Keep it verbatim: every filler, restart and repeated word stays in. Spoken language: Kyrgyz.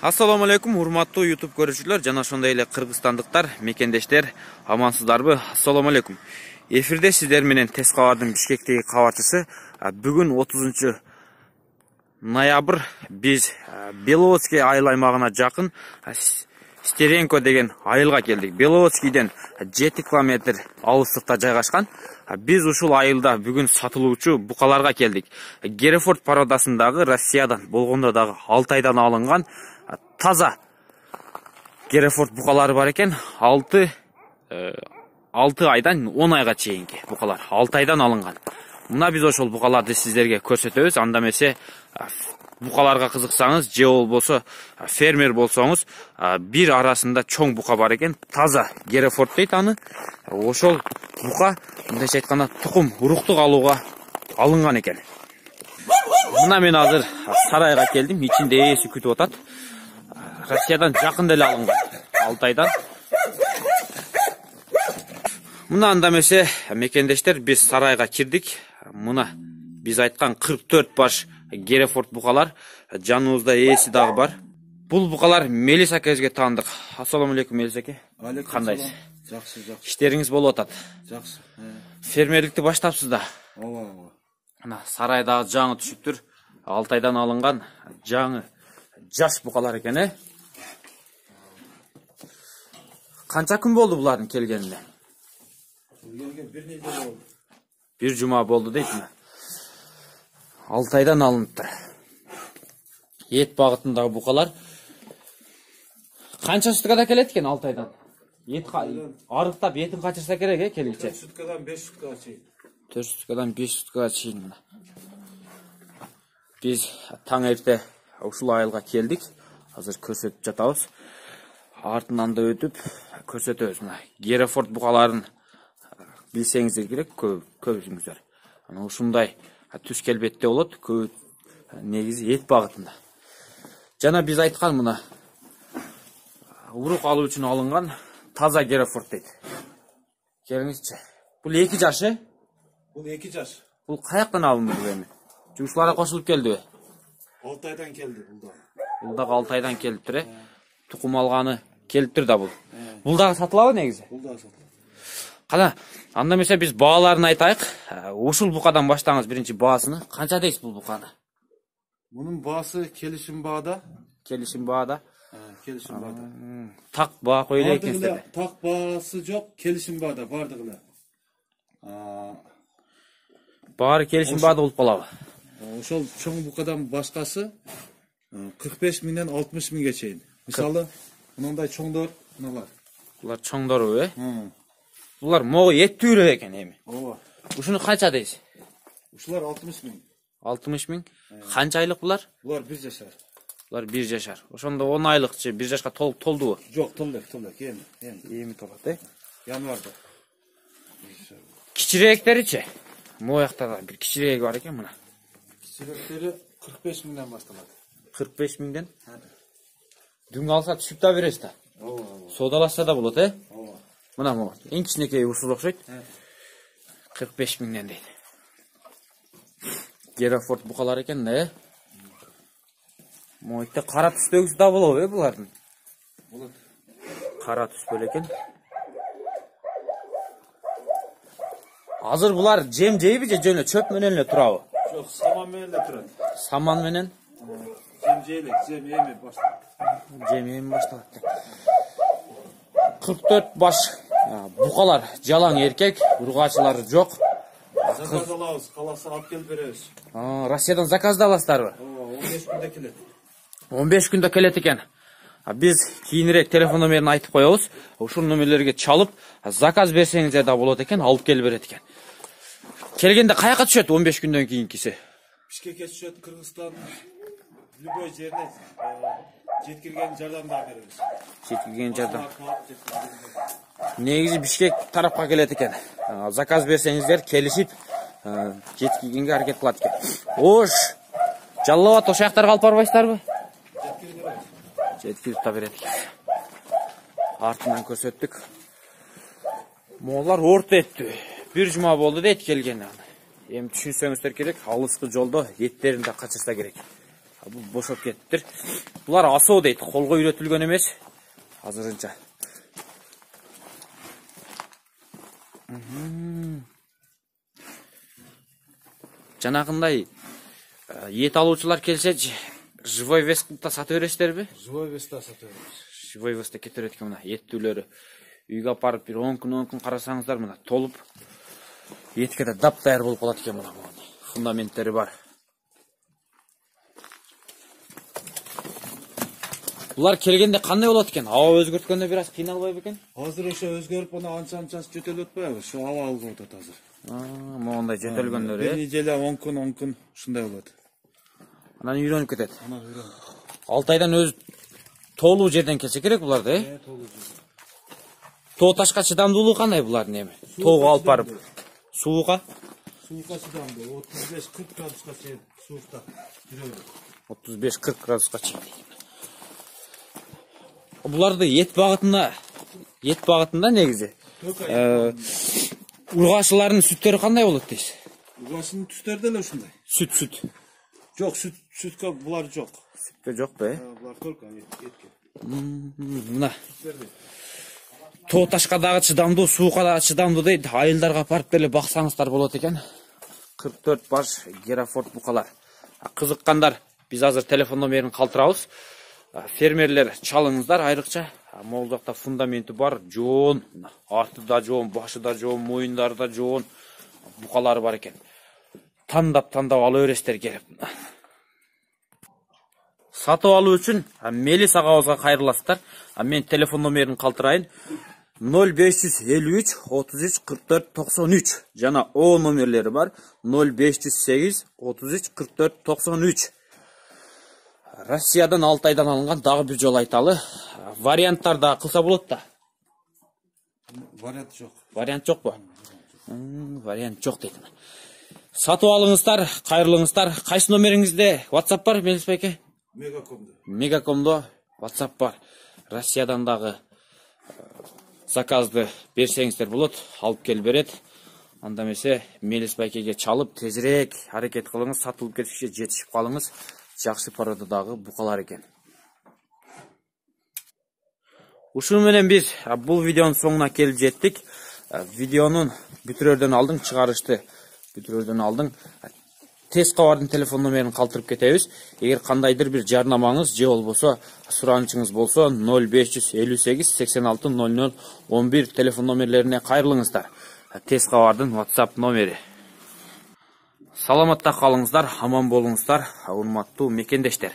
Assalamu alaikum, урматтуу YouTube көрүүчүлөр жана ошондой эле кыргызстандыктар, мекендештер, амансыздарбы? Assalamu alaikum. Эфирде сиздер менен Тез кабардын Бишкектеги кабарчысы. Бүгүн отузунчу ноябрь биз Беловодский айыл аймагына жакын Стеренко деген айылга келдик. Беловодскийден жети километр алыстыкта жайгашкан. Биз ушул айылда бүгүн сатылуучу букаларга келдик. Герефорд породасындагы Россиядан болгондо дагы алты айдан алынган таза Герефорд букалары бар экен. алты айдан он айга чейинки букалар. алты айдан алынган. Мына биз ошол букаларды сиздерге көрсөтөбүз. Анда эмесе букаларга кызыксаңыз, же болбосо фермер болсоңуз, бир арасында чоң бука бар экен. Таза Герефорд дейт аны. Ошол бука мындайча айтканда тукум уруктук алууга алынган экен. Мына мен азыр сарайга келдим. Ичинде ээси күтүп атат. Россиядан жакын деле алынган. алты айдан. Мына анда эмесе мекендештер, биз сарайга кирдик. Мына биз айткан кырк төрт баш Герефорд букалар, жаныбызда ээси дагы бар. Бул букалар Мелис акебизге таандык. Ассаламу алейкум, Мелис аке. Кандайсыз? Жакшы, жакшы. Иштериңиз болуп атат. Жакшы. Фермерликти баштапсыз да. Ооба, ооба. Мына сарайдагы жаңы түшүптүр. алты айдан алынган жаңы жаш букалар экен, э? Канча күн болду булардын келгенине? Келгенге бир нече болду. Бир жума болду дейт ми? алты айдан алыныптыр. Эт багытындагы букалар. Канча суткада келет экен алты айдан? Эт арыктап этин качырса керек, э, келгиче. төрт суткадан беш суткага чейин. төрт суткадан беш суткага чейин. Биз таң эрте ушул айылга келдик. Азыр көрсөтүп жатабыз. Артынан да өтүп көрсөтөбүз. Мына Герефорд букаларын билсеңиздер керек, көбүңүздөр. Ана ушундай түс келбетте болот, көп негизи эт багытында. Жана биз айткан мына урук алуу үчүн алынган таза Герефорд дейт. Келиңизчи. Бул эки жаш, э? Бул эки жаш. Бул каяктан алынды бул эми? Жумушчуларга кошулуп келдиби? алты айдан келди бул да. Бул дагы алты айдан келиптир, э? Тукум алганы келиптир да бул. Бул дагы сатылабы негизи? Бул дагы сатылат. Кана, анда эмесе биз бааларын айтайык. Ушул букадан баштаңыз биринчи баасыны. Канча дейсиз бул буканы? Мунун баасы келишим баада. Келишим баада. Келишим баада. Так баа кой эле экенсиздер. Так баасы жок, келишим баада бардыгы эле. Баары келишим баада болуп калабы? Ошол чоң букадан башкасы кырк беш миңден алтымыш миңге чейин. Мисалы, мындай чоңдор, мыналар. Булар чоңдору, э? Булар могу эттүүрөө экен эми. Ооба. Ушуну канча дейсиз? Ушулар алтымыш миң. алтымыш миң. Канча айлык булар? Булар бир жашар. Булар бир жашар. Ошондо он айлыкчы бир жашка толуп толдубу? Жок, толду, толду. Эми, эми. Эми толот, э? Январда. Кичирээктеричи? Моякта да бир кичирееги бар экен мына. Кичирээктери кырк беш миңден башталат. кырк беш миңден? Дүң алса түшүп да бересиз да. Ооба. Содалашса да болот, э? Ооба. Мына могу. Эң кичинекей ушул окшойт. кырк беш миңден дейт. Герефорд букалар экен да, э? Мойтта кара түстөгүсү да болобу, э, булардын? Болот. Кара түс беле экен. Азыр булар жем жейби же жөнө чөп менен эле турабы? Жок, саман менен эле турат. Саман менен? Жем жейлек, жем эми башталат. Жем эми башталат. кырк төрт баш букалар жалаң эркек, ургачылары жок. Заказ алабыз, каласа алып келип беребиз. Россиядан заказ да аласыздарбы? Ооба, он беш күндө келет. он беш күндө келет экен. Биз кийинирээк телефон номерин айтып коебуз. Ушул номерлерге чалып, заказ берсеңиздер да болот экен, алып келип берет экен. Келгенде каяка түшөт он беш күндөн кийинкиси? Бишкекке түшөт, Кыргызстандын любой жерине жеткирген жардам да беребиз. Жеткирген жардам. Негизи Бишкек тарапка келет экен. Заказ берсеңиздер келишип жеткиргенге аракет кылат экен. Ош. Жаллабат ошол жактарга алып барбайсыздарбы? Жеткирип беребиз. Жеткирип да берет экен. Артынан көрсөттүк. Моолар орто эттүү. Бир жума болду дейт келгени. Эми түшүнсөңүздөр керек, алыскы жолдо эттерин да качырса керек. Бул бошоп кетиптир. Булар асоо дейт, колго үйрөтүлгөн эмес. Азырынча. Жанагындай эт алуучулар келсе, живой веста сатып бересиздерби? Живой веста сатып беребиз. Живой веста кетип берет экен мына эттүүлөрү. Үйгө апарып бир он күн он күн карасаңыздар мына толуп этке да дап даяр болуп калат экен мына. Фундаменттери бар. Булар келгенде кандай болот экен? Аба өзгөрткөндө бир аз кыйналбайбы экен? Азыр ошо өзгөрүп, ана анча-анча жөтөлүп атпайбы? Ошо аба алып атат азыр. Аа, моундай жөтөлгөндөр Бир э. неделя он күн он күн ушундай болот. Анан үйрөнүп кетет. Анан үйрөнүп. алты айдан өз толуу жерден келсе керек буларды, э? Э, толуу жер. Тоо ташка чыдамдуулугу кандай булардын эми? Тоого алып барып. Сууга? Сууга чыдамдуу, отуз беш кырк градуска чейин суукта жүрөбүз. отуз беш кырк градуска чейин. Буларды эт багытында, эт багытында негизи. Э, ургашылардын сүттөрү кандай болот дейсиз? Ургашынын түстөрү деле ушундай. Сүт, сүт. Жок, сүт, сүткө булар жок. Сүткө жокпу, э? Булар только этке. Мына. Тоо ташка дагы чыдамдуу, сууга дагы чыдамдуу дейт. Айылдарга апарып деле баксаңыздар болот экен. кырк төрт баш Герафорд букалар. Кызыккандар, биз азыр телефон номерин калтырабыз. Фермерлер чалыңыздар айрыкча. Могул жакта фундаменти бар, жоон, арты да жоон, башы да жоон, моюндары да жоон букалары бар экен. Тандап тандап ала бересиздер келип. Сатып алуу үчүн Мелис агабызга кайрыласыздар. Мен телефон номерин калтырайын. ноль беш жүз элүү үч отуз үч кырк төрт токсон үч жана О номерлери бар. ноль беш жүз сегиз отуз үч кырк төрт токсон үч. Россиядан алты айдан алынган, дагы бир жолу айталы. Варианттар да кылса болот да. Вариант жок. Вариант жокпу? Вариант жок дейт. Сатып алыңыздар, кайрылыңыздар. Кайсы номериңизде WhatsApp бар, Мелис байке? Мегакомдо. Мегакомдо WhatsApp бар. Россиядан дагы заказды берсеңиздер болот, алып келип берет. Анда эмесе Мелис байкеге чалып, тезирээк аракет кылыңыз, сатылып кетишке жетишип калыңыз. Жакшы пародадагы букалар экен. Ушуну менен биз бул видеонун соңуна келип жеттик. Видеонун бүтүрөрдөн алдын, чыгарышты бүтүрөрдөн алдын тез кабардын телефон номерин калтырып кетебиз. Эгер кандайдыр бир жарнамаңыз же болбосо суранычыңыз болсо ноль беш жүз элүү сегиз сексен алты ноль ноль он бир телефон номерлерине кайрылыңыздар. Тез кабардын WhatsApp номери. Саламатта калыңыздар, аман болуңуздар, урматтуу мекендештер.